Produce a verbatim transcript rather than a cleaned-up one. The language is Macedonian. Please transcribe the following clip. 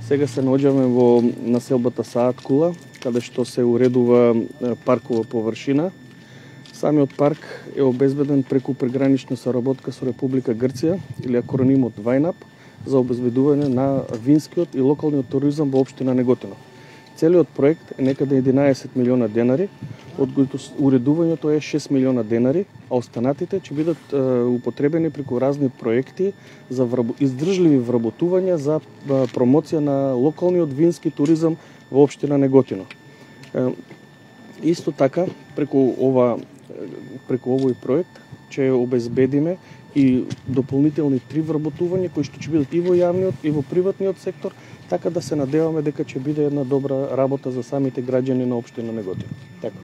Сега се наоѓаме во населбата Саат Кула, каде што се уредува паркова површина. Самиот парк е обезбеден преку прегранична соработка со Република Грција или акронимот ВајНАП за обезбедување на винскиот и локалниот туризам во општина Неготино. Целиот проект е некаде единаесет милиона денари, од кои уредувањето е шест милиона денари, а останатите ќе бидат е, употребени преку разни проекти за враб... издржливи вработувања за е, промоција на локалниот вински туризам во општина Неготино. Е, исто така, преку ова преку овој проект ќе обезбедиме и дополнителни три вработувања кои што ќе бидат и во јавниот и во приватниот сектор, така да се надеваме дека ќе биде една добра работа за самите граѓани на општина Неготино. Така.